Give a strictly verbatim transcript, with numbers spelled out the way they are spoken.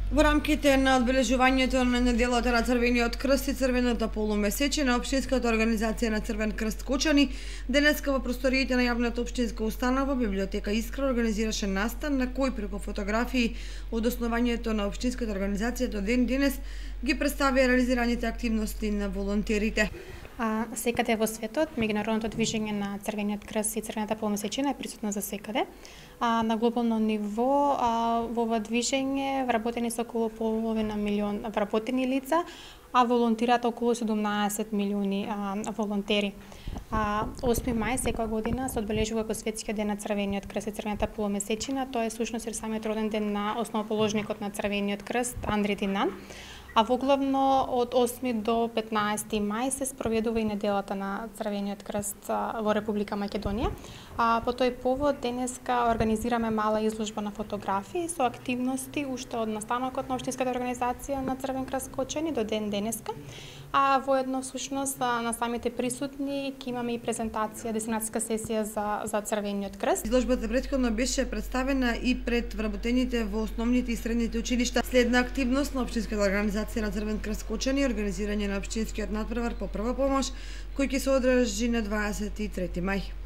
Во рамките на одбележувањето на неделата на Црвениот крст и Црвеното полумесече на Општинската организација на Црвен крст Кочани, денеска во просториите на јавната општинска установа библиотека Искра организираше настан на кој преку фотографии од основањето на Општинската организација до ден денес ги представија реализираните активности на волонтерите. А, секаде во светот, меѓународното движење на Црвениот крст и Црвената полумесечина е присутно за секаде. А, на глобално ниво а, во ова движење вработени се околу половина милион вработени лица, а волонтираат околу седумнаесет милиони а, волонтери. А, осми мај секоја година се одбележува како светскиот ден на Црвениот крст и Црвената полумесечина. Тоа е всушност самиот роден ден на основоположникот на Црвениот крст Андри Динан. А воглавно од осми до петнаесети мај се спроведува и неделата на Црвениот крст во Република Македонија. А по тој повод денеска организираме мала изложба на фотографии со активности уште од настанокот на Општинската организација на Црвен крст Кочани до ден денеска. А воедно всушност на самите присутни ќе имаме и презентација, десинатска сесија за за Црвениот крст. Изложбата претходно беше представена и пред вработените во основните и средните училишта. Следна активност на Општинската организација на Црвен крст Кочани, организирање на општинскиот натпревар по прва помош, кој ќе се одржи на дваесет и трети мај.